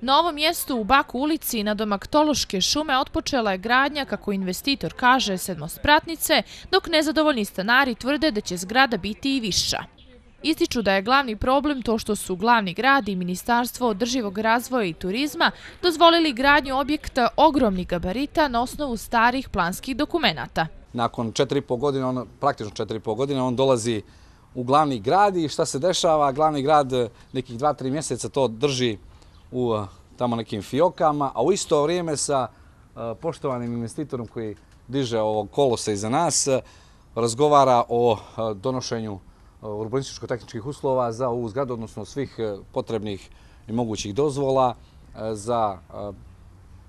Na ovom mjestu u Baku ulici nadomak Tološke šume otpočela je gradnja, kako investitor kaže, sedmospratnice, dok nezadovoljni stanari tvrde da će zgrada biti i viša. Ističu da je glavni problem to što su glavni grad i Ministarstvo održivog razvoja i turizma dozvolili gradnju objekta ogromnih gabarita na osnovu starih planskih dokumenata. Nakon 4,5 godine, praktično 4,5 godine, on dolazi u glavni grad i šta se dešava? Glavni grad nekih 2-3 mjeseca to drži u tamo nekim fiokama, a u isto vrijeme sa poštovanim investitorom koji diže ovog kolosa iza nas razgovara o donošenju urbanističko-tehničkih uslova za ovu zgradu, odnosno svih potrebnih i mogućih dozvola za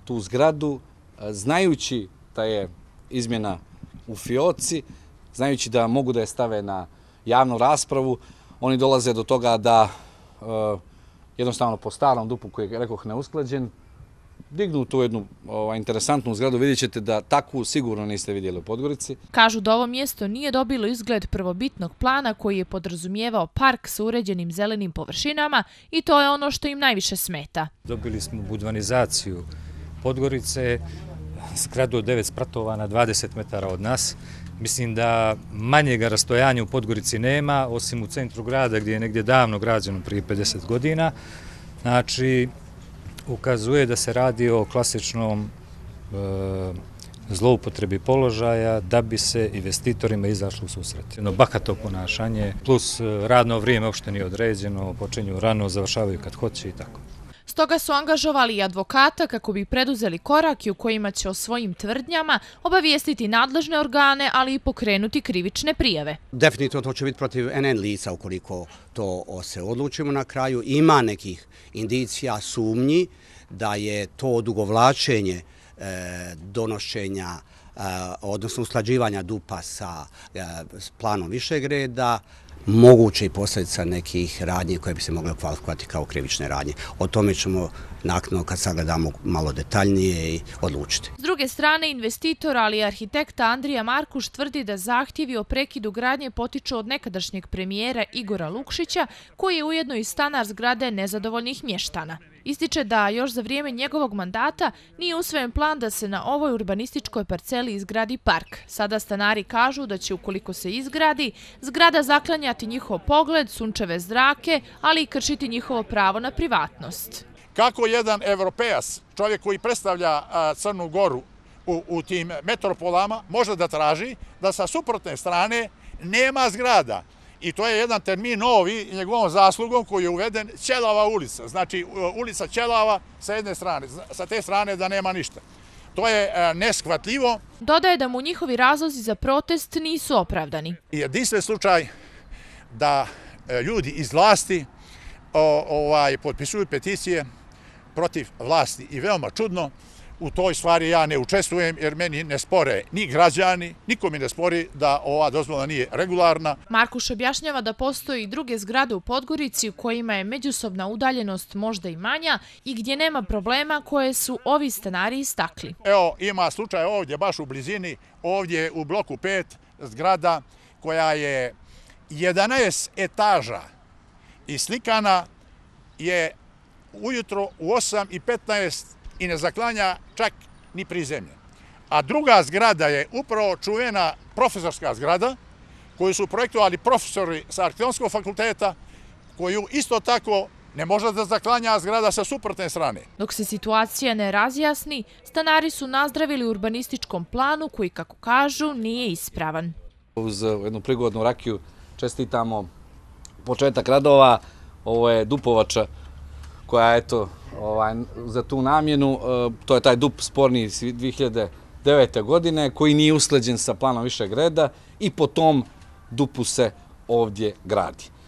tu zgradu, znajući da je izmjena u fioci, znajući da mogu da je stave na javnu raspravu. Oni dolaze do toga da jednostavno po starom dupu koji je, rekoh, neusklađen, dignu tu jednu interesantnu zgradu. Vidjet ćete da takvu sigurno niste vidjeli u Podgorici. Kažu da ovo mjesto nije dobilo izgled prvobitnog plana koji je podrazumijevao park sa uređenim zelenim površinama i to je ono što im najviše smeta. Dobili smo budvanizaciju Podgorice, zgradu od 9 spratova na 20 metara od nas. Mislim da manjega rastojanja u Podgorici nema, osim u centru grada gdje je negdje davno građeno prije 50 godina. Znači, ukazuje da se radi o klasičnom zloupotrebi položaja da bi se investitorima izašlo u susret. Bahato ponašanje plus radno vrijeme uopšte nije određeno, počinju rano, završavaju kad hoće i tako. Stoga su angažovali i advokata kako bi preduzeli korake u kojima će o svojim tvrdnjama obavijestiti nadležne organe, ali i pokrenuti krivične prijave. Definitivno to će biti protiv NN lica ukoliko to se odlučimo na kraju. Ima nekih indicija, sumnji da je to odugovlačenje donošenja, odnosno usklađivanja DUP-a sa planom višeg reda, moguće i posljedica nekih radnji koje bi se mogle kvalifikovati kao krivične radnje. O tome ćemo naknadno, kad sagledamo malo detaljnije, i odlučiti. S druge strane, investitor, ali i arhitekta Andrija Markuš tvrdi da zahtjevi o prekidu gradnje potiču od nekadašnjeg premijera Igora Lukšića, koji je ujedno i stanar zgrade nezadovoljnih mještana. Ističe da još za vrijeme njegovog mandata nije usvojen plan da se na ovoj urbanističkoj parceli izgradi park. Sada stanari kažu da će, ukoliko se izgradi, zgrada zaklanjati njihov pogled, sunčeve zrake, ali i kršiti njihovo pravo na privatnost. Kako jedan evropejac, čovjek koji predstavlja Crnu Goru u tim metropolama, može da traži da sa suprotne strane nema zgrada? I to je jedan termin novi njegovom zaslugom koji je uveden, Ćelava ulica. Znači ulica Ćelava sa jedne strane, sa te strane da nema ništa. To je neshvatljivo. Dodaje da mu njihovi razlozi za protest nisu opravdani. Jedinstven slučaj da ljudi iz vlasti potpisuju peticije protiv vlasti i veoma čudno, u toj stvari ja ne učestvujem jer meni ne spore ni građani, niko mi ne spori da ova dozvola nije regularna. Markuš objašnjava da postoji i druge zgrade u Podgorici u kojima je međusobna udaljenost možda i manja i gdje nema problema koje su ovi stanari istakli. Evo, ima slučaj ovdje, baš u blizini, ovdje u bloku 5, zgrada koja je 11 etaža i slikana je ujutro u 8:15 i ne zaklanja čak ni prizemlje. A druga zgrada je upravo čuvena profesorska zgrada koju su projektovali profesori sa Arhitektonskog fakulteta, koju isto tako ne može da zaklanja zgrada sa suprotne strane. Dok se situacija ne razjasni, stanari su nazdravili urbanističkom planu koji, kako kažu, nije ispravan. Uz jednu prigodnu rakiju čestitamo početak radova. Ovo je dupovača koja je za tu namjenu. To je taj dup sporni iz 2009. godine koji nije usklađen sa planom višeg reda i po tom dupu se ovdje gradi.